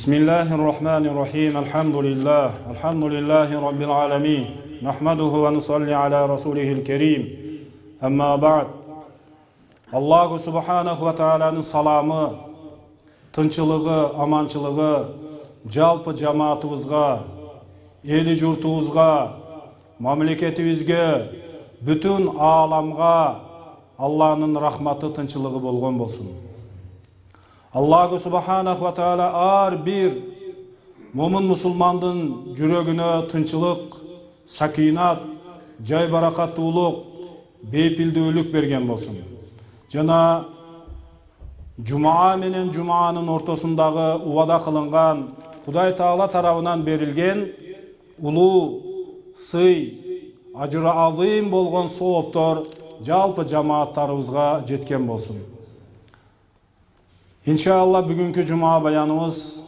Bismillahirrahmanirrahim. Alhamdulillahi rabbil alamin. Nahmaduhu wa nusalli ala rasulihil kerim. Amma ba'd. Allahu subhanahu wa ta'ala'nın salamı, tınçılığı, amançılığı жалпы жамаатыбызга, эли журтубузга, мамлекетибизге, бүтүн ааламга Аллахнын рахматы, тынчылыгы болгон болсун. Аллаху субханаху ва таала ар бир момун мусулмандын жүрөгүнө тынчылык, сакинат, жай баракаттуулук, бейпилдүүлүк берген болсун. Жана жумаа менен жумаанын ортосундагы убада кылынган Кудай Таала тарабынан берилген улуу сый, ажыры азым болгон сооптор жалпы жамааттарыбызга жеткен болсун. Иншалла бүгүнкү жума баяныбыз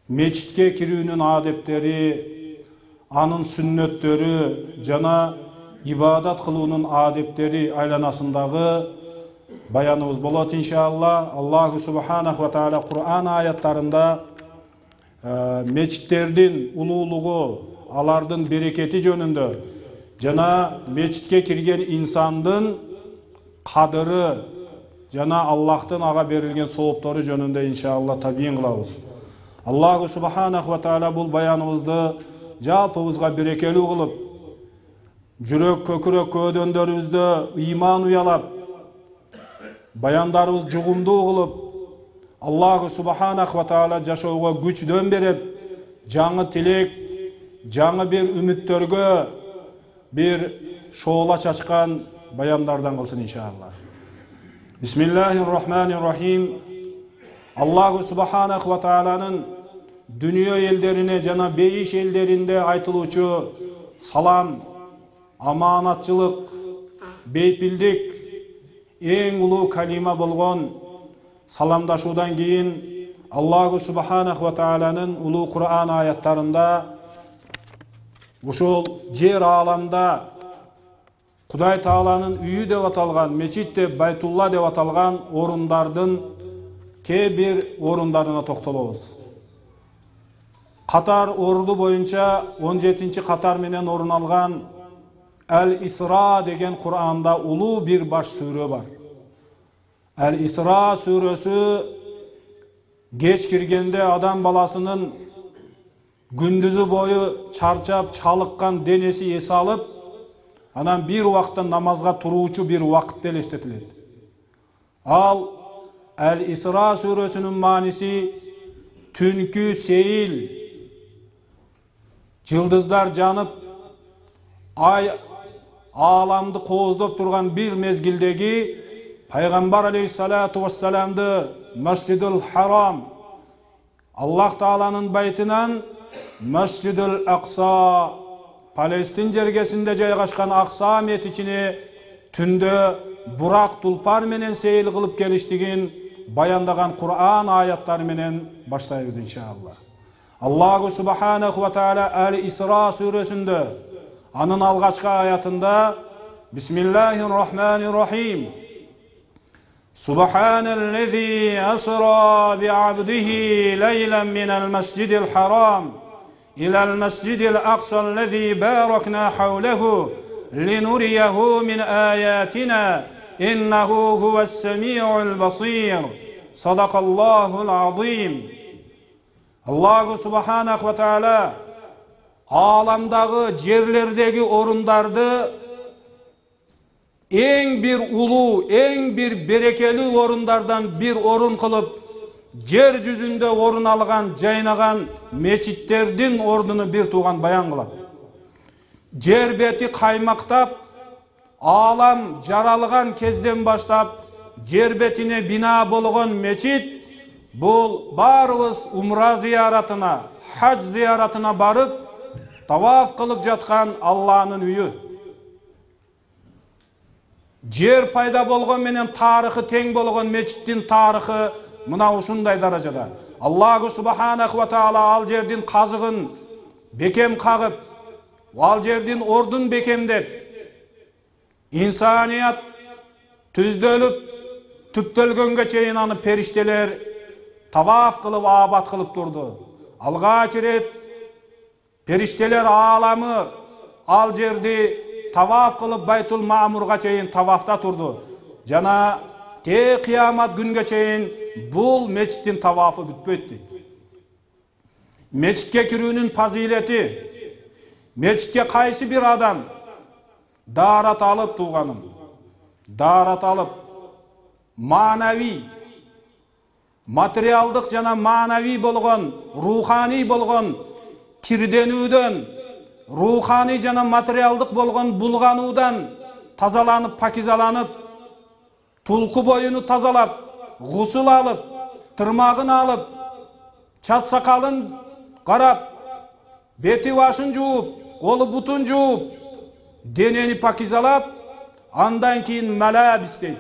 мечитке кирүүнүн адептери, анын сүннөттөрү жана ибадат кылуунун адептери айланасындагы баяныбыз болот иншалла. Аллаху субханаху ва таала Кур'ан аяттарында мечиттердин улуулугу, алардын берекети жөнүндө жана мечитке кирген инсандын кадыры жана Аллахтын ага берилген сооптору жөнүндө иншалла табийин кылабыз. Аллаху субханаху ва таала бул баяныбызды жалпыбызга берекелүү кылып, жүрөк көкүрөк көөдөндөрүбүздө ыйман уялап, баяндарыбыз жугумдуу кылып, Аллаху субханаху ва таала жашоого күчтөн берип, жаңы тилек, жаңы бир үмүттөргө бир шоола чачкан баяндардан кылсын иншалла. Бисмиллахиррахманиррахим. Аллаху субханаху ва тааланын дүнүйө элдерине жана бейиш элдеринде айтылуучу салам, аманатчылык, бейпилдик эң улуу калима болгон саламдашуудан кийин Аллаху субханаху ва тааланын улуу Кур'ан аяттарында ушул жер ааламда Кудай Тааланын үйү деп аталган, мечит деп, Байтулла деп аталган орундардын кээ бир орундарына токтолобуз. Катар орду боюнча 17-чи катар менен орун алган Әл-Исра деген Кур'анда улуу бир баш сүрө бар. Әл-Исра сүрөсү кеч киргенде адам баласынын күндүзү бою чарчап, чалыккан денеси эс алып, анан бир убакта намазга туруучу бир убакыт элестетилет. Ал Әл-Исра сүрөсүнүн мааниси түнкү сейил, жылдыздар жанып, ай ааламды кооздоп турган бир мезгилдеги Пайгамбар алейхиссалату вассаламды Масжидул Харам, Аллах Тааланын байтынан Масжидул Акса, Палестин жергесинде жайгашкан Акса метичине түндө бурак тулпар менен сейил кылып келиштигин баяндаган Кур'ан аяттары менен баштайбыз иншалла. Аллаху субханаху ва таала Әл-Исра сүрөсүндө анын алгачкы аятында Бисмиллахиррахманиррахим. Субханаллази асра би'абдихи лейлан минал масжидил харам илал масжидил акса аллази баракна хавлаху линурияху мин аятина иннаху хувас-сами'ул басир. Садакаллахул азим. Аллаху субханаху ва таала ааламдагы жерлердеги орундарды эң бир улуу, эң бир берекелүү орундардан бир орун кылып, жер жүзүндө орун алган, жайнаган мечиттердин ордуну бир тууган баян кылат. Жер бети каймактап, аалам жаралган кезден баштап, жер бетине бина болгон мечит бул баарыбыз умра зыяратына, хаж зыяратына барып, таваф кылып жаткан Алланын үйү. Жер пайда болгон менен тарыхы тең болгон мечиттин тарыхы мына ушундай даражада. Аллаху субханаху ва таала ал жердин казыгын бекем кагып, ал жердин ордун бекемдеп, инсаният түздөлүп, түптөлгөнгө чейин аны периштелер таваф кылып абат кылып турду. Алгач ирет периштелер ааламы ал жерди таваф кылып Байтул Маамурга чейин тавафта турду. Жана те кыямат күнгө чейин бул мечиттин тавафы бүтпөйт дейт. Мечитке кирүүнүн фазилети: мечитке кайсы бир адам даарат алып тууганым, даарат алып маанавий, материалдык жана маанавий болгон, руханий болгон кирденүүдөн, руханий жана материалдык болгон булгануудан тазаланып, пакизаланып, тулку боюну тазалап, гусул алып, тырмагын алып, чач сакалын карап, бети башын жууп, колу бутун жууп, денени пакизалап, андан кийин малабис дейт.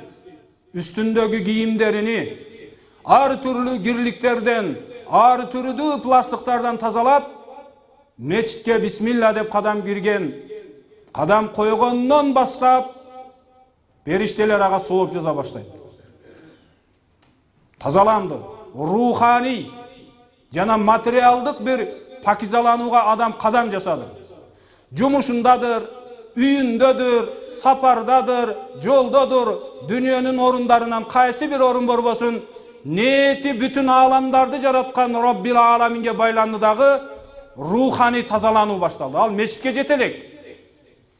Үстүндөгү кийимдерини ар түрлүү кирликтерден, ар түрдүү пластыктардан тазалап, мечитке бисмилла деп кадам кирген. Кадам койгондон баштап периштелер ага сооп жаза баштайт. Тазаланды. Руханий жана материалдык бир пакизаланууга адам кадам жасады. Жумушундадыр, үйүндөдүр, сапардадыр, жолдодур, дүйнөнүн орундарынан кайсы бир орун борбосун, ниети бүтүн ааламдарды жараткан Роббил Аламинге байланды дагы руханий тазалануу башталды. Ал мечитке жете элек.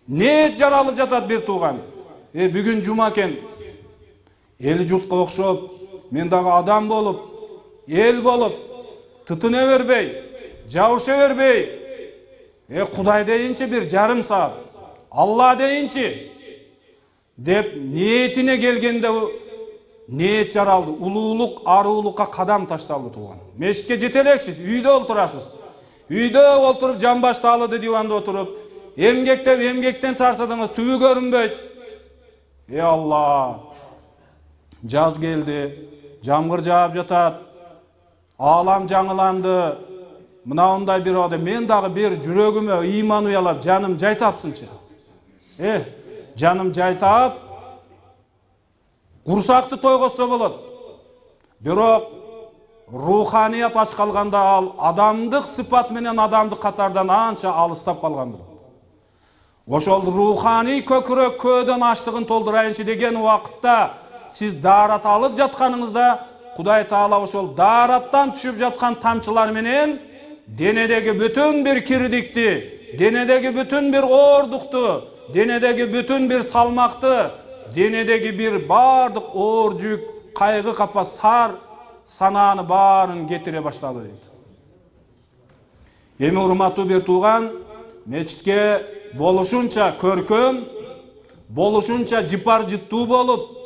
Ниет жаралып жатат бир тууган. Бүгүн жума экен. Эл журтка окшоп, мен дагы адам болуп, эл болуп, тытына бербей, жабыша бербей, Кудай дейинчи бир жарым саат, Алла дейинчи деп ниетине келгенде ниет жаралды. Улуулук, аруулукка кадам ташталды тууган. Мечитке жете элексиз, үйдө олтурасыз. Үйдө олтуруп жамбашталды диванда отуруп, эмгектеп эмгектен тартадыңыз, түбү көрүнбөйт. Алла, жаз келди, жамгыр жаап жатат, аалам жаңыланды. Мынандай бир адам, мен дагы бир жүрөгүмө ыйман уялап, жаным жай тапсынчы. Жаным жай таап, курсакты тойготсо болот. Бирок руханият ач калганда ал адамдык сыпат менен адамдык катардан анча алыстап калган болот. Ошол руханий көкүрөк көөдөн аштыгын толдурайынчы деген убакытта сиз даарат алып жатканыңызда Кудай Таала ошол даараттан түшүп жаткан тамчылар менен денедеги бүтүн бир кирдикти, денедеги бүтүн бир оордукту, денедеги бүтүн бир салмакты, денедеги бир бардык оор жүк, кайгы капа сар санааны баарын кетире баштады дейт. Эми урматтуу бир тууган, мечитке болушунча көркөм, болушунча жыпар жыттуу болуп,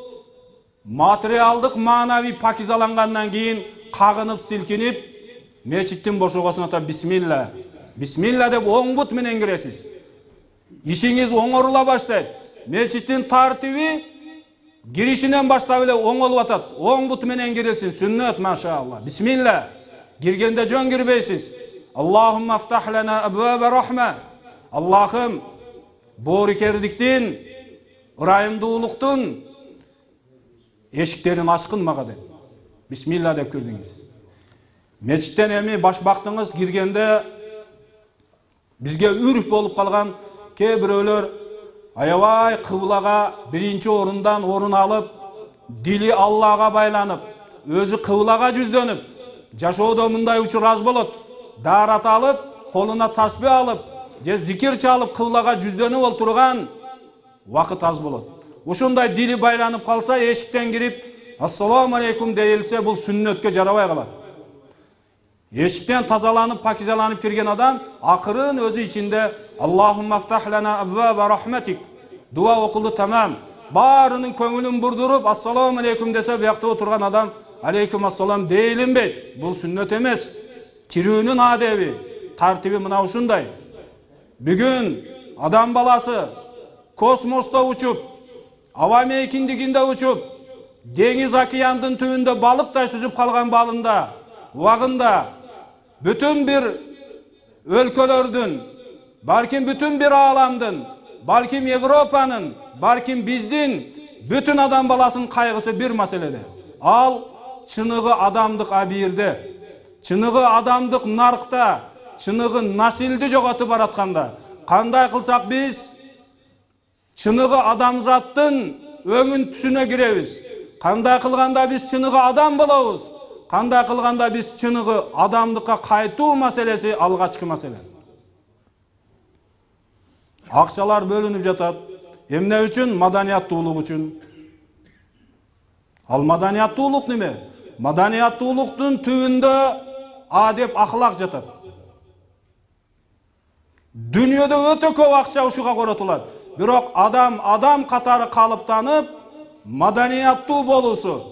материалдык маанавий пакизалангандан кийин кагынып силкинип, мечиттин бошогосуна та бисмилла, бисмилла деп оң бут менен киресиз. Ишиңиз оңорула баштайт. Мечиттин тартиби киришинен баштап эле оңолуп атат. Оң бут менен киресин, сүннөт, машаалла. Бисмилла. Киргенде жөн кирбейсиз. Аллахумма афтах лана абваба рахма. Аллахым, боорукердиктин, ырайымдуулуктун эшиктерин ачкын мага деп. Бисмилла деп кирдиңиз. Мечиттен эми башбактыңыз киргенде бизге үрф болуп калган кээ бирөөлөр аябай кыблага биринчи орундан орун алып, дили Аллага байланып, өзү кыблага жүздөнүп, жашоодо мындай учур аз болот. Даарат алып, колуна тасбih алып, же зикир чалып кыблага жүздөнүп олтурган вакыт аз болот. Ушундай дили байланып калса, эшиктен кирип, ассаламу алейкум дейилсе, бул сүннөткө жарабай калат. Эшиктен тазаланып, пакизаланып кирген адам акырын өзү ичинде Аллахумма афтах лана абваба рахматик дуа окулду, тамам. Баарынын көңүлүн бурдуруп, ассаламу алейкум десе, биякта отурган адам алейкум ассалам дейилинбейт. Бул сүннөт эмес. Кирүүнүн адеби, тартиби мына ушундай. Бүгүн адам баласы космосто учуп, аба мейкиндигинде учуп, деңиз океандын түбүндө балыктай сүзүп калган балында, убагында бүтүн бир өлкөлөрдүн, балким бүтүн бир ааламдын, балким Европанын, балким биздин бүтүн адам баласынын кайгысы бир маселеде. Ал чыныгы адамдык абийирде, чыныгы адамдык наркта, чыныгы насилди жоготуп баратканда кандай кылсак биз чыныгы адамзаттын өңүн түсүнө киребиз? Кандай кылганда биз чыныгы адам болобуз? Кандай кылганда биз чыныгы адамдыкка кайтуу маселеси алгачкы маселе. Акчалар бөлүнүп жатат. Эмне үчүн? Маданияттуулук үчүн. Ал маданияттуулук неме? Маданияттуулуктун түбүндө адеп ахлак жатат. Дүйнөдө өтө көп акча ушуга коротулат. Бирок адам катары калыптанып, маданияттуу болуусу,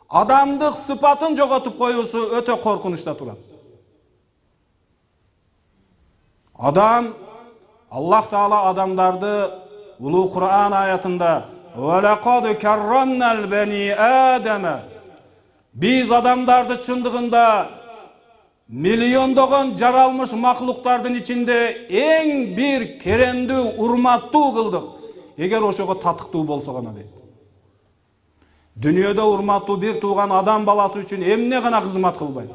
адамдык сыпатын жоготуп коюусу өтө коркунучта турат. Аллах Таала адамдарды улуу Кур'ан аятында "Валакад каррамнал бани Адама" биз адамдарды чындыгында миллиондогон жаралмыш маклуктардын ичинде эң бир керемдүү, урматтуу кылдык. Эгер ошого татыктуу болсо гана дейт. Дүйнөдө урматтуу бир тууган адам баласы үчүн эмне гана кызмат кылбайт?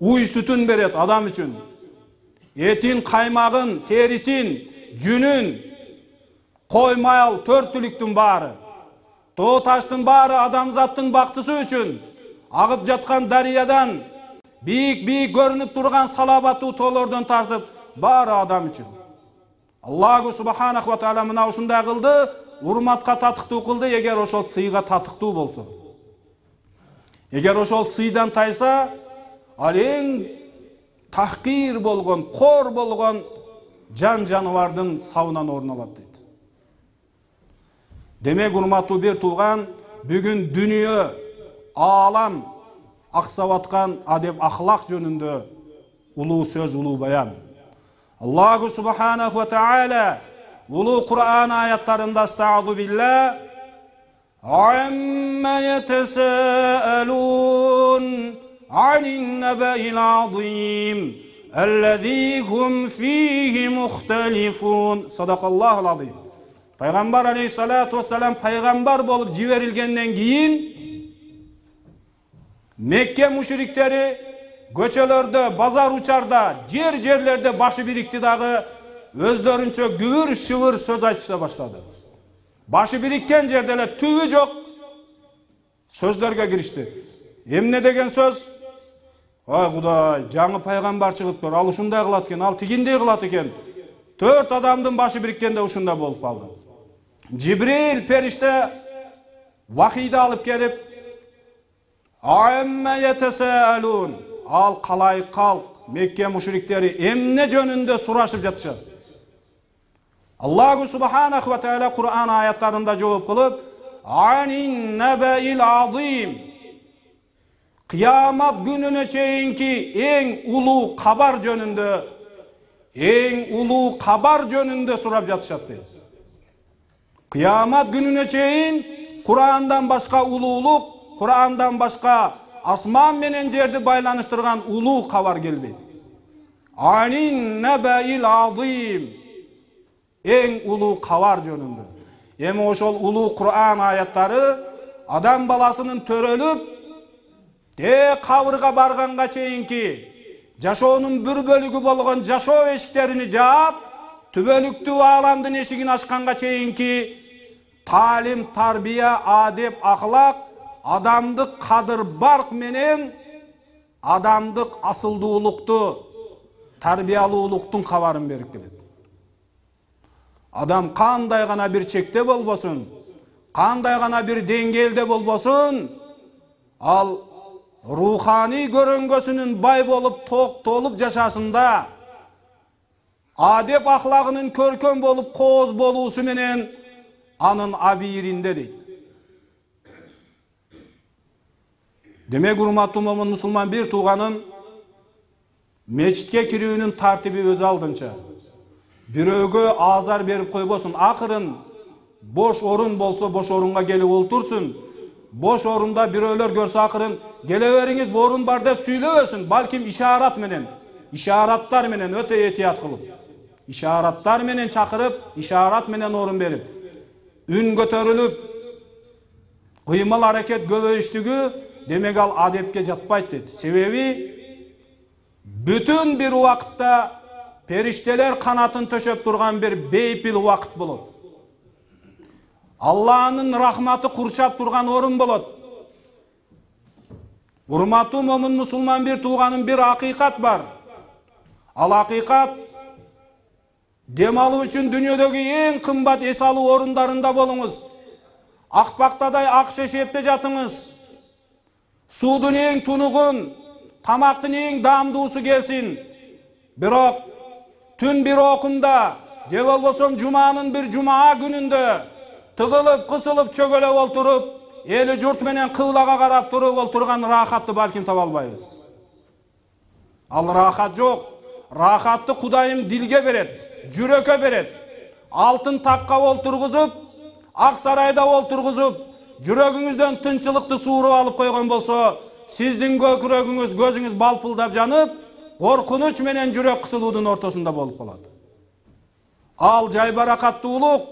Уй сүтүн берет адам үчүн. Этин, каймагын, терисин, жүнүн, кой мал, төрт түлүктүн баары, тоо таштын баары адамзаттын бактысы үчүн. Агып жаткан дарыядан, бийик көрүнүп турган салабаттуу тоолордон тартып, баары адам үчүн. Аллаху субханаху ва таала мына ушундай кылды, урматка татыктуу кылды, эгер ошол сыйга татыктуу болсо. Эгер ошол сыйдан тайса, ал эң тахкир болгон, кор болгон жан жаныбардын сабынан орун алат дейт. Демек урматтуу бир тууган, бүгүн дүйнө, аалам аксап аткан адеп ахлак жөнүндө улуу сөз, улуу баян. Аллаху субханаху ва таала улуу Кур'ан аяттарында "Стаъуду билlah амма ятасаалун анин набаил азим аллази хум фихи мухталифун". Садакаллахул азим. Пайгамбар алейхиссалату вассалам пайгамбар болуп жиберилгенден кийин Мекке мушриктери көчөлөрдө, базар учарда, жерлерде башы бирикти дагы өздөрүнчө күбүр шыбыр сөз айтыша баштады. Башы бириккен жерде эле түбү жок сөздөргө киришти. Эмне деген сөз? Ай Кудай, жаңы пайгамбар чыгыптыр, ал ушундай кылат экен, ал тигиндей кылат экен. 4 адамдын башы бириккенде ушундай болуп калды. Жибрил периште вахийди алып келип, "Амма ятасаалун", ал калай калк, Мекке мушриктери эмне жөнүндө сурашып жатышат. Аллаху субханаху ва таала Кур'ан аяттарында жооп кылып, "Анин набаил азим", кыямат күнүнө чейинки эң улуу кабар жөнүндө сурап жатышат дейт. Кыямат күнүнө чейин Кур'андан башка улуулук, Кур'андан башка асман менен жерди байланыштырган улуу кабар келбейт. Анин набаил азим, эң улуу кабар жөнүндө. Эми ошол улуу Кур'ан аяттары адам баласынын төрөлүп, кабырга барганга чейинки жашоонун бир бөлүгү болгон жашоо эшиктерини жаап, түбөлүктүү ааламдын эшигин ачканга чейинки талим, тарбия, адеп, ахлак, адамдык кадыр барк менен адамдык асылдуулукту, тарбиялуулуктун кабарын берип келет. Адам кандай гана бир чекте болбосун, кандай гана бир деңгээлде болбосун, ал руханий көрөнгөсүнүн бай болуп, толуп жашашында, адеп ахлагынын көркөм болуп, кооз болуусу менен анын абийиринде дейт. Демек урматтуу момун мусулман бир тууганын мечитке кирүүнүн тартиби өз алдынча. Бирөөгө азар берип койбосун. Акырын бош орун болсо, бош орунга келип олтурсун. Бош орунда бирөөлөр көрсө акырын келе бериңиз, бу орун бар деп сүйлөбөсүн. Балким ишарат менен, ишараттар менен өтө этият кылып, ишараттар менен чакырып, ишарат менен орун берип, үн көтөрүлүп, Кыймыл аракет көбөйүштүгү демек ал адепке жатпайт дейт. Себеби бүтүн бир убакытта периштелер канатын төшөп турган бир бейпил убакыт болот. Алланын рахматы курчап турган орун болот. Урматтуу момун мусулман бир тууганын бир акыйкат бар. Ал акыйкат дем алуу үчүн дүйнөдөгү эң кымбат эс алуу орундарында болуңуз. Акпактадай ак шешепте жатыңыз. Суудун эң тунугун, тамактын эң даамдуусу келсин. Бирок түн бир окунда, же болбосо жуманын бир жумаа күнүндө тыгылып, кысылып, чөгөлөп олтуруп, эли журт менен кыблага карап туруп олтурган рахатты балким таба албайбыз. Ал рахат жок. Рахатты Кудайым дилге берет, жүрөккө берет. Алтын такка олтургузуп, ак сарайда олтургузуп, жүрөгүңүздөн тынчылыкты сууруп алып койгон болсо, сиздин көкүрөгүңүз, көзүңүз балпылдап жанып, коркунуч менен жүрөк кысылуудун ортосунда болуп калат. Ал жайбаракаттуулук,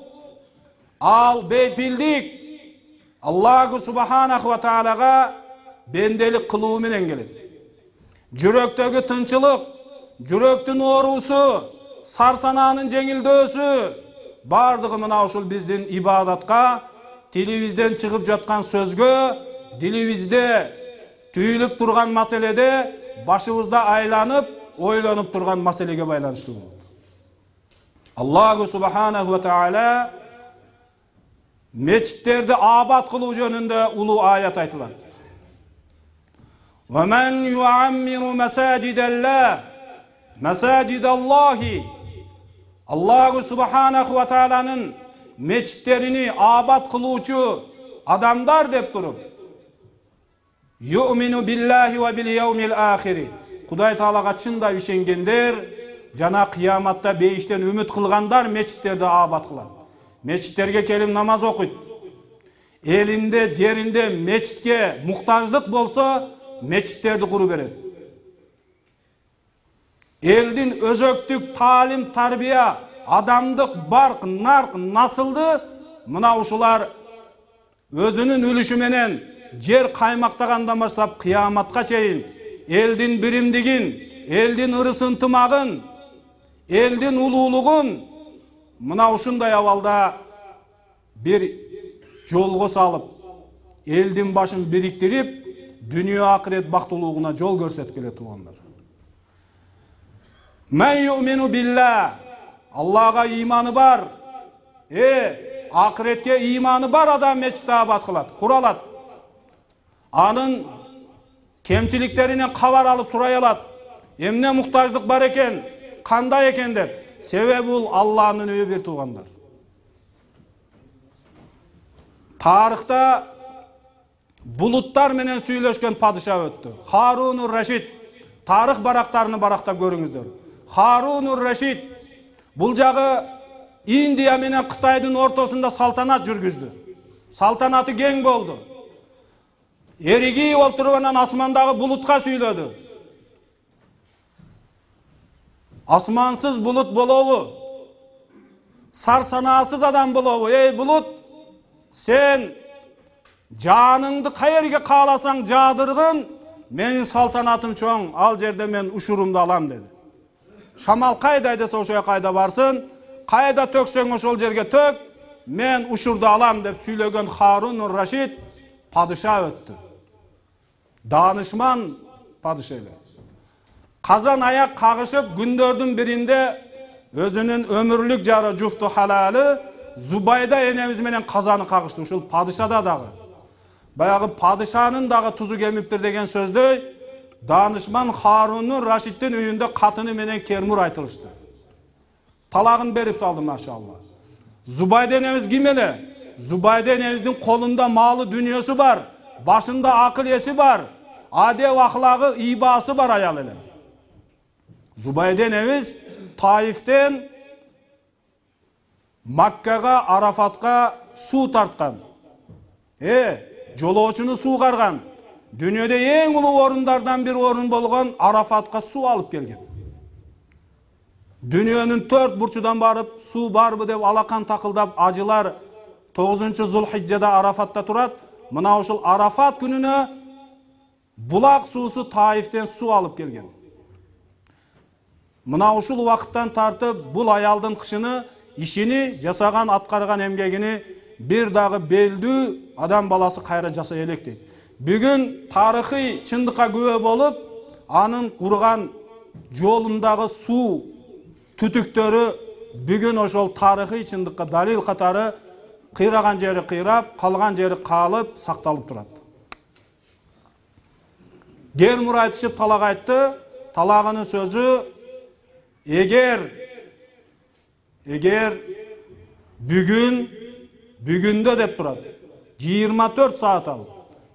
ал бейпилдик Аллаху субханаху ва таалага бенделик кылуу менен келет. Жүрөктөгү тынчылык, жүрөктүн оорусу, сарсанаанын жеңилдөөсү бардыгы мына ушул биздин ибадатка, тилибизден чыгып жаткан сөзгө, дилибизде түйүлүп турган маселеде башыбызда айланып, ойлонуп турган маселеге байланыштуу болот. Аллаху субханаху ва таала мечиттерди абад кылуу жөнүндө улуу аят айтылат. Ва ман юаммиру масажидаллахи Аллаху субханаху ва тааланын мечиттерини абад кылуучу адамдар деп туруп, юмину биллахи ва бил яумил ахири. Кудай таалага чындап ишенгендер жана кыяматта бейиштен үмүт кылгандар мечиттерди абад кылат. Мечиттерге келип намаз окуйт. Элинде, жеринде мечитке муктаждык болсо, мечиттерди куру берет. Элдин өзөктүк таалим, тарбия, адамдык барк, нарк, насылды мына ушулар өзүнүн үлүшү менен жер каймактагандан баштап кыяматка чейин элдин биримдигин, элдин ырыс ынтымагын, элдин улуулугун мына ушундай абалда бир жолго салып, элдин башын бириктирип, дүйнө акырет бактылуулугуна жол көрсөтүп келет туугандар. Мен юмину билла, Аллага иманы бар. Акыретке иманы бар адам мечитти абад кылат, куралат. Анын кемчиликтеринен кабар алып сурай алат. Эмне муктаждык бар экен, кандай экен деп. Себеби бул Алланын үйү бир туугандар. Тарыхта булуттар менен сүйлөшкөн падыша өттү. Харун Рашид. Тарых барактарыны барактап көрүңүздөр. Харун Рашид бул жагы Индия менен Кытайдын ортосунда салтанат жүргүздү. Салтанаты кең болду. Эригип олтуруп анан асмандагы булутка сүйлөдү. Асмансыз булут болобу? Сарсанаасыз адам болобу? Эй булут, сен жаныңды каерге кааласаң жаадыргын, менин салтанатым чоң, ал жерде мен ушурумду алам деди. Шамал кайда десе ошо кайда барсын, кайда төксөң ошол жерге төк, мен ушурду алам деп сүйлөгөн Харун Рашид падыша өттү. Данышман падыша эле. Казан аяк кагышып күндөрдүн биринде өзүнүн өмүрлүк жары жуфту халалы Зубайда энебиз менен казаны кагышты. Ушул падышада дагы. Баягы падышанын дагы тузу кемиптир деген сөздөй данышман Харун Рашидтин үйүндө катыны менен кермур айтылышты. Талагын берип салды машалла. Зубайда энебиз ким эле? Зубайда энебиздин колунда малы дүнүйөсү бар, башында акыл эси бар, адеп ахлагы, ибасы бар аял эле. Зубайда энебиз Таифтен Маккага, Арафатка суу тарткан. Жолоочуну суугарган. Дүйнөдө эң улуу орундардан бир орун болгон Арафатка суу алып келген. Дүйнөнүн 4 бурчудан барып, суу барбы деп алакан такылдап ажылар 9-Зулхижжада Арафатта турат. мына ушул Арафат күнүнө булак суусу Таифтен суу алып келген. Мына ушул убакыттан тартып бул аялдын кышыны, ишини, жасаган, аткарган эмгегини бир дагы белдүү адам баласы кайра жасай элек дейт. Бүгүн тарыхый чындыкка күбө болуп, анын курган жолундагы суу түтүктөрү бүгүн ошол тарыхый чындыкка далил катары кыйраган жери кыйрап, калган жери калып, сакталып турат. Гермур айтышып талак айтты, талагынын сөзү эгер бүгүндө деп турат. 24 саат ал.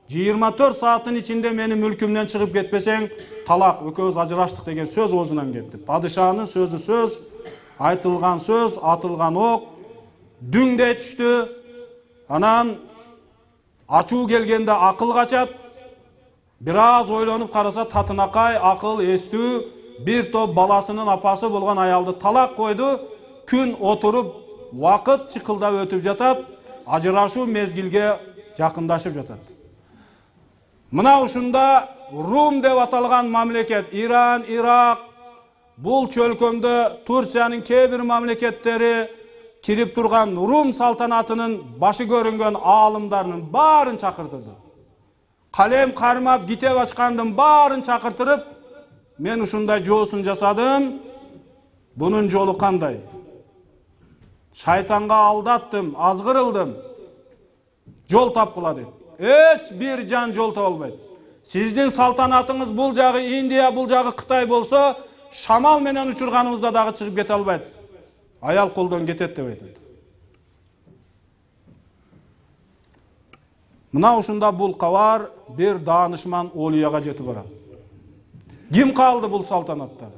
24 сааттын ичинде менин мүлкүмдөн чыгып кетпесең, талак, экөөбүз ажыраштык деген сөз оозунан кетти. Падышанын сөзү сөз, айтылган сөз, атылган ок, дүңдей түштү. Анан ачуу келгенде акыл качат. Бир аз ойлонуп караса татынакай, акыл, эстүү, бир топ баласынын апасы болгон аялды талак койду. Күн отуруп, вакыт чыкылдап өтүп жатат, ажырашуу мезгилге жакындашып жатат. Мына ушунда Рум деп аталган мамлекет, Иран, Ирак, бул чөлкөмдө Турциянын кээ бир мамлекеттери кирип турган Рум салтанатынын башы көрүнгөн аалымдарынын баарын чакыртырды. Калем кармап, китеп ачкандын баарын чакыртырып, мен ушундай жоосун жасадым, бунун жолу кандай? Шайтанга алдаттым, азгырылдым, жол тапкыла дейт. Эч бир жан жол таба албайт. Сиздин салтанатыңыз бул жагы Индия, бул жагы Кытай болсо, шамал менен учурганыңызда дагы чыгып кете албайт. Аял колдон кетет деп айтат. Мына ушунда бул кабар бир даанышман олияга жетип барат. Ким калды бул салтанатта?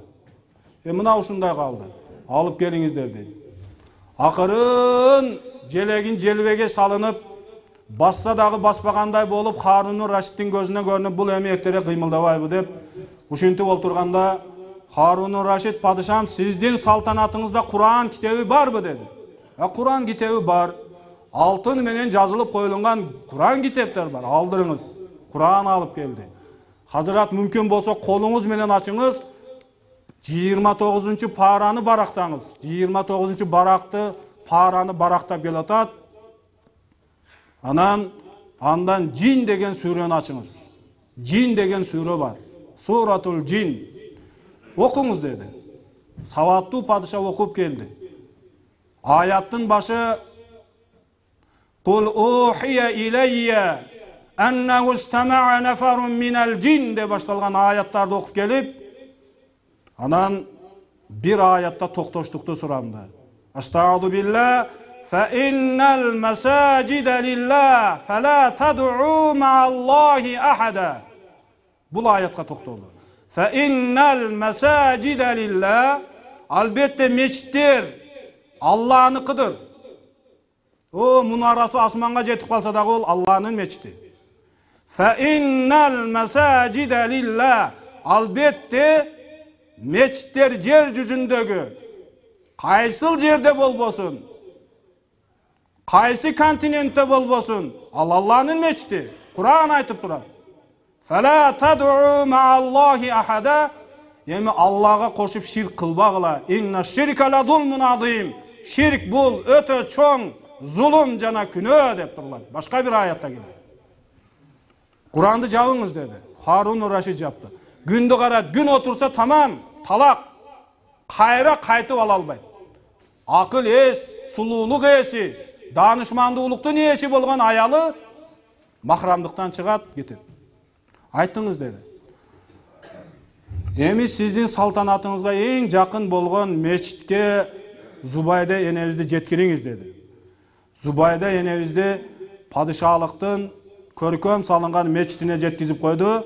Мына ушундай калды. Алып келиңиздер дейт. Акырын желегин желбеге салынып, басса дагы баспагандай болуп, Харунун Рашидтин көзүнө көрүнүп, бул эми эртерээк кыймылдабайбы деп, ушинтип олтурганда Харунун Рашид: падышам, сиздин салтанатыңызда Куран китеби барбы деди. Куран китеби бар. Алтын менен жазылып коюлган Куран китептер бар. Алдырыңыз. Куран алып келди. Хазырат, мүмкүн болсо колуңуз менен ачыңыз. 29 параны барактаңыз. 29 баракты, параны барактап келатат. Андан Джин деген сүрөнү ачыңыз. Джин деген сүрө бар. Суратул Джин. Окуңуз деди. Саваттуу падыша окуп келди. Аяттын башы: Кул ухия илейя аннаху истама'a нафарун минал джин деп башталган аяттарды окуп келип, анан бир аятта токтоштукту сурамды. Астагфиру билlah fa innal masajida lillah fala tad'u ma'allahi ahada. Бул аятка токтолду. Fa innal masajida lillah, албетте мечиттер Аллахныкыдыр. Мунарасы асманга жетип калса дагы ол Аллахнын мечити. Fa innal masajida lillah, албетте мечиттер жер жүзүндөгү кайсыл жерде болбосун, кайсы континентте болбосун, ал Аллахнын мечити. Куран айтып турат. Fala tad'u ma'allahi ahada, эми Аллага кошуп ширк кылбагыла. Инна ширка ла зулмун азим. Ширк бул өтө чоң зулум жана күнөө деп турулат. Башка бир аятта келет. Куранды жабыңыз деди. Харун Рашид жапты. Күндү карат, күн отурса тамам, талак. Кайра кайтып ала албайт. Акыл эс, сулуулук эси, даанышмандуулуктун ээси болгон аялы махрамдыктан чыгат, кетет. Айтыңыз деди. Эми сиздин салтанатыңызга эң жакын болгон мечитке Зубайда энебизди жеткириңиз деди. Зубайда энебизди падышалыктын көркөм салынган мечитине жеткизип койду.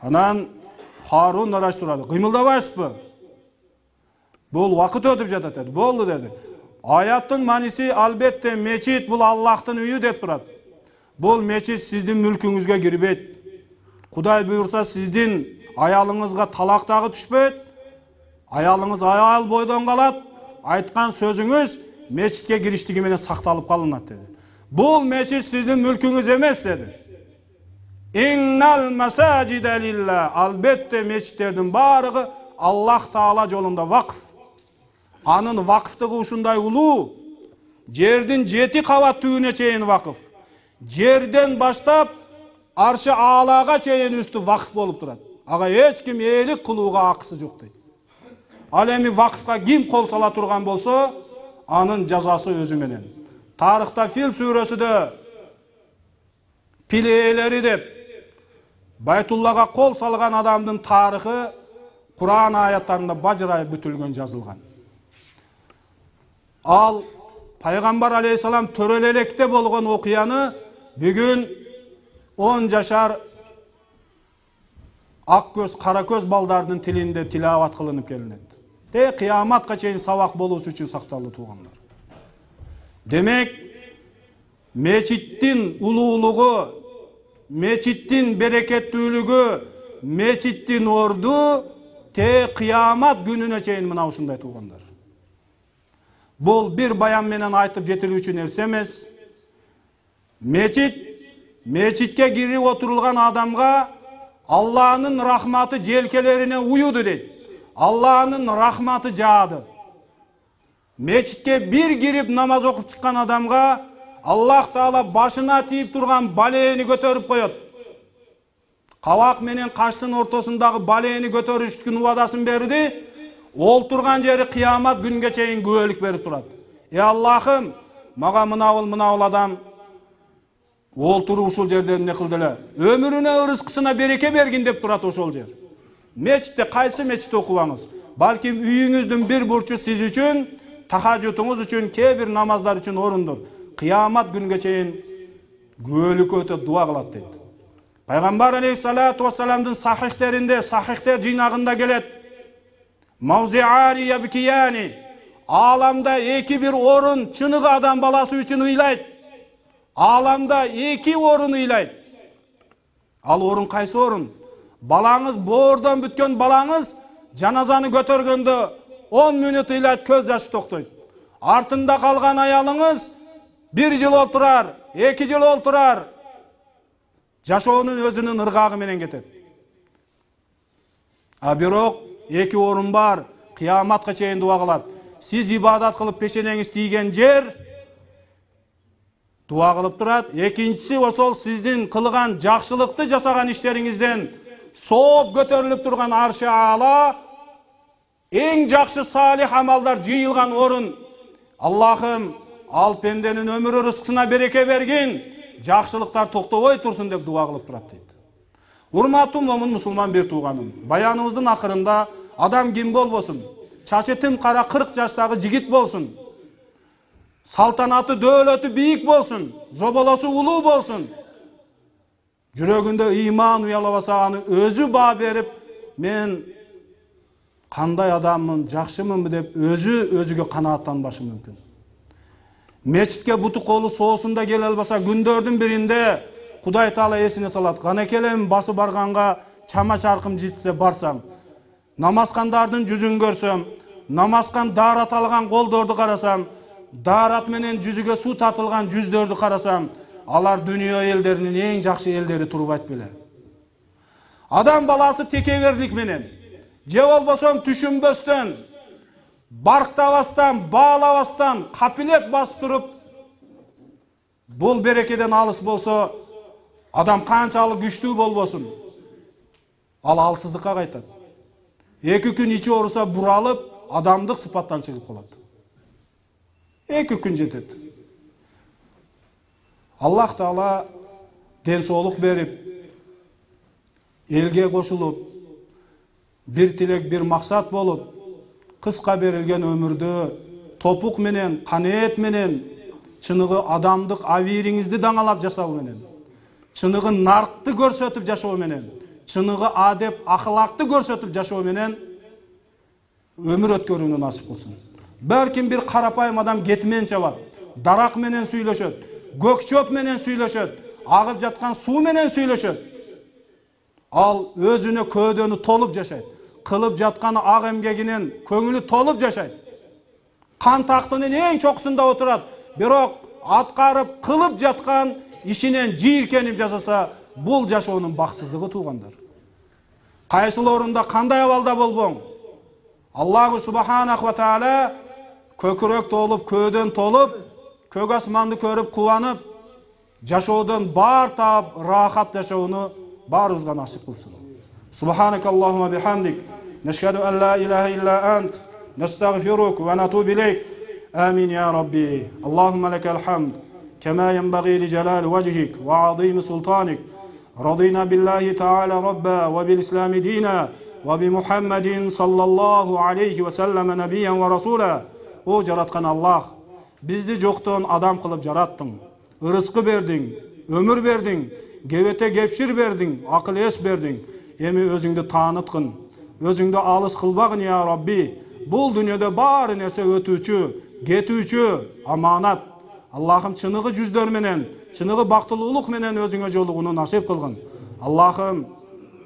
Анан Харун Рашид турады. Кыймылдабайсызбы? Бул вакыт өтүп жатат деди. Болду деди. Аяттын маниси албетте мечит бул Аллахтын үйү деп турат. Бул мечит сиздин мүлкүңүзгө кирбейт. Кудай буйрса сиздин аялыңызга талак дагы түшпөйт. Аялыңыз аял бойдон калат. Айткан сөзүңүз мечитке кириштиги менен сакталып калынат деди. Бул мечит сиздин мүлкүңүз эмес деди. Иннал масажида лилла. Албетте мечиттердин баарыгы Аллах Таала жолунда вакф. Анын вакфтыгы ушундай улуу. Жердин 7 кабат түбүнө чейин вакф. Жерден баштап аршы аалага чейин үстү вакф болуп турат. Ага эч ким ээлик кылууга акысы жок дейт. Ал эми вакфка ким кол сала турган болсо, анын жазасы өзү менен. Тарыхта Фил сүрөсүдө пил ээлери деп Байтуллага кол салган адамдын тарыхы Кур'ан аяттарында бажырайып бүтүлгөн жазылган. Ал Пайгамбар алейхисалам төрөлөлекте болгон окуяны бүгүн 10 жашар ак көз, кара көз балдардын тилинде тилават кылынып келинет. Кыяматка чейин сабак болуусу үчүн сакталды туугандар. Демек, мечиттин улуулугу, мечиттин берекеттүүлүгү, мечиттин орду кыямат күнүнө чейин мына ушундай туугандар. Бул бир баян менен айтып жетилүүчү нерсе эмес. Мечитке кирип отурулган адамга Алланын рахматы желкелерине уюду дейт. Алланын рахматы жаады. Мечитке бир кирип намаз окуп чыккан адамга Аллах Таала башына тийип турган балээни көтөрүп коет. Кабак менен каштын ортосундагы балээни көтөрүштүн убадасын берди. Ол турган жери кыямат күнгө чейин күбөлүк берип турат. Аллахым, мага мынабыл адам ол туруп ушул жерде эмне кылды эле? Өмүрүнө, рызкысына береке бергин деп турат ошол жер. Мечитте кайсы мечитте окубаңыз? Балким үйүңүздүн бир бурчу сиз үчүн, тахажжутуңуз үчүн, кээ бир намаздар үчүн орундур. Кыямат күнгө чейин күбөлүк өтөп дуа кылат дейт. Пайгамбар алейхиссалату вассаламдын сахихтеринде, сахихтер жыйнагында келет. Мавзиари ябкияни. Аламда эки бир орун чыныгы адам баласы үчүн ыйлайт. Аламда эки орун ыйлайт. Ал орун кайсы орун? Балаңыз, боордон бүткөн балаңыз жаназаны көтөргөндө 10 мүнөт ыйлайт, көз жашы токтойт. Артында калган аялыңыз 1 жыл олтурар, 2 жыл олтурар. Жашоонун өзүнүн ыргагы менен кетет. А бирок эки орун бар, кыяматка чейин дуа кылат. Сиз ибадат кылып пешенеңиз тийген жер дуа кылып турат. Экинчиси ошол сиздин кылган жакшылыкты жасаган иштериңизден сооп көтөрүлүп турган аршы аала, эң жакшы салих амалдар жыйылган орун. Аллахым, ал пенденин өмүрү, рызкысына береке бергин, жакшылыктар токтобой турсун деп дуа кылып турат дейт. Урматтуу момун мусулман бир тууганым, баяныбыздын акырында адам ким болбосун, чачы тым кара 40 жаштагы жигит болсун, салтанаты дөөлөтү бийик болсун, зоболосу улуу болсун, жүрөгүндө ыйман уялабаса аны өзү баа берип, мен кандай адаммын, жакшымынбы деп өзүгө канааттанбашы мүмкүн. Мечитке буту колу соосунда келе албаса, күндөрдүн биринде Кудай Таала эсине салат. Канекелем басы барганга чама чаркым жетсе барсам, намазкандардын жүзүн көрсөм, намазкан даарат алган колдорду карасам, даарат менен жүзүгө суу тартылган жүздөрдү карасам, алар дүйнө элдеринин эң жакшы элдери турбайт беле. Адам баласы текеберлик менен, же болбосо түшүнбөстөн, барктабастан, баалабастан, капилет басып туруп, бул берекеден алыс болсо, адам канчалык күчтүү болбосун, ал алсыздыкка кайтат. 2 күн ичи ооруса буралып, адамдык сыпаттан чыгып калат. 2 күн жетет. Аллах Таала ден соолук берип, элге кошулуп, бир тилек, бир максат болуп, кыска берилген өмүрдө топук менен, канеет менен, чыныгы адамдык авириңизди даңалап жашоо менен, чыныгы наркты көрсөтүп жашоо менен, чыныгы адеп, ахлакты көрсөтүп жашоо менен өмүр өткөрүүнү насип кылсын. Берким бир карапайым адам кетмен чабат, дарак менен сүйлөшөт, көкчөп менен сүйлөшөт, агып жаткан суу менен сүйлөшөт. Ал өзүнө көөдөнү толуп жашайт, кылып жаткан ак эмгегинен көңүлү толуп жашайт. Кан тактынын эң чокусунда отурат, бирок аткарып кылып жаткан ишинен жийиркенип жасаса, бул жашоонун бакытсыздыгы туугандар. Кайсылоорунда кандай абалда болбоң, Аллаху субханаху ва таала көкүрөк толуп, көөдөн толуп, көк асманды көрүп кубанып, жашоодон баар таап, рахат жашоону баарыбызга насип кылсын. Субханакаллахумма бихамдик, нашхаду ан ла илаха илля ант, настагфирук ва натубу илейк. Амин я Rabbi. Allahumma lekal hamd kema yenbaghi li jalali wajhik wa azimi sultanik. Radina billahi ta'ala rabba wa bil islami dina wa bi Muhammadin sallallahu alayhi wa sallam nabiyyan wa rasula. O jaratkan Allah, bizdi жоктон адам кылып жараттың. Ырыскы бердиң, өмүр бердиң, кебете кепшир бердиң, акыл эс бердиң. Эми өзүңдү тааныткын, өзүңдү алыс кылбагын ya Rabbi. Бул дүйнөдө баары нерсе өтүүчү, кетүүчү, аманат. Аллахым чыныгы жүздөр менен, чыныгы бактылуулук менен өзүңө жолугууну насип кылгын. Аллахым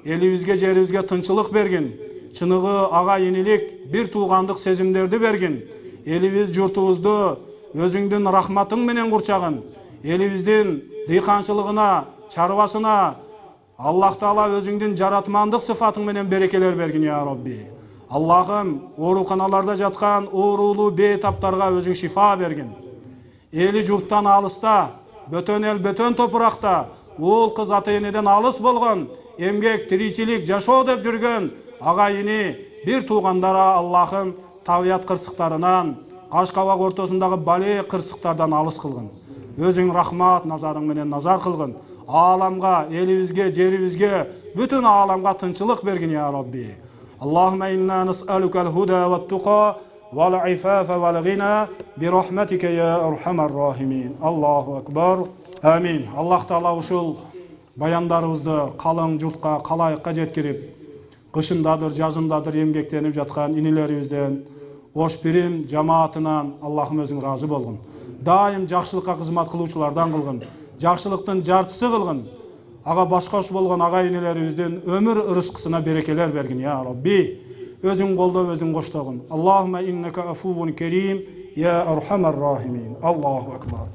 элибизге, жерибизге тынчылык бергин. Чыныгы ага инилик, бир туугандык сезимдерди бергин. Элибиз, журтубузду өзүңдүн рахматың менен курчагын. Элибиздин дыйканчылыгына, чарбасына Аллах Таала өзүңдүн жаратмандык сыфатың менен берекелер бергин ya Rabbi. Allah'ım oorukanalarda жаткан оорулуу бейтаптарга өзүң шифа бергин. Эли журттан алыста, бөтөн эл, бөтөн топуракта, уул кыз ата-энеден алыс болгон, эмгек, тиричилик, жашоо деп жүргөн агайыны, бир туугандара Аллахым табият кырсыктарынан, каш кабак ортосундагы бале кырсыктардан алыс кылгын. Өзүң рахмат назарың менен назар кылгын. Ааламга, элибизге, жерибизге, бүтүн ааламга тынчылык бергин ya Rabbi. اللهم إنا نسألك الهدى والتقى والعفاف والغنى برحمتك يا أرحم الراحمين. الله أكبر. آمين. الله تعالى ушул баяндарыбызды калың журтка, калайыкка жеткирип, кышындадыр, жазындадыр эмгектенип жаткан инилерибизден, ош пирим жамаатынан Аллахым өзүң разы болгун. Дайым жакшылыкка кызмат кылуучулардан кылгын, жакшылыктын жарчысы кылгын. Ага башкош болгон агайынелерибиздин өмүр ырыскысына берекелер бергин ya Rabbi. Өзүң колдоп, өзүң коштогун. Аллахумма иннека афувун керим ya arhamar rahimin. Allahu akbar.